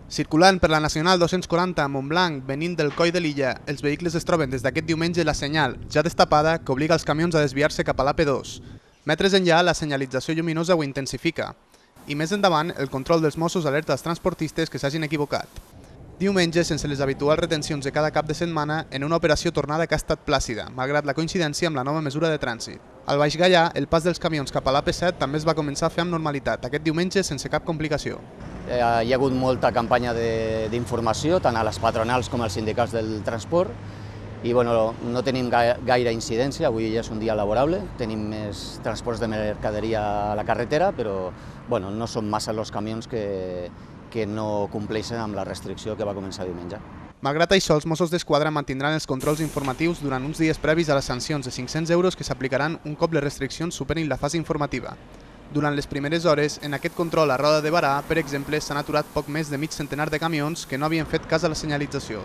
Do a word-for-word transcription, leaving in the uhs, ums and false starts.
Circulant per la Nacional dos-cents quaranta a Montblanc, venint del Coll de l'Illa, els vehicles es troben des d'aquest diumenge la senyal, ja destapada, que obliga els camions a desviar-se cap a l'A P dos. Metres enllà, la senyalització lluminosa ho intensifica. I més endavant, el control dels Mossos alerta als transportistes que s'hagin equivocat. Diumenge, sense les habituals retencions de cada cap de setmana, en una operació tornada que ha estat plàcida, malgrat la coincidència amb la nova mesura de trànsit. Al Baix Gaià, el pas dels camions cap a l'A P set també es va començar a fer amb normalitat, aquest diumenge sense cap complicació. Hi ha hagut molta campanya d'informació, tant a les patronals com als sindicats del transport, i bueno, no tenim gaire incidència, avui ja és un dia laborable, tenim més transports de mercaderia a la carretera, però bueno, no són massa els camions que, que no compleixen amb la restricció que va començar diumenge. Malgrat això, els Mossos d'Esquadra mantindran els controls informatius durant uns dies previs a les sancions de cinc-cents euros que s'aplicaran un cop les restriccions superin la fase informativa. Durant les primeres hores, en aquest control a Roda de Barà, per exemple, s'han aturat poc més de mig centenar de camions que no havien fet cas a la senyalització.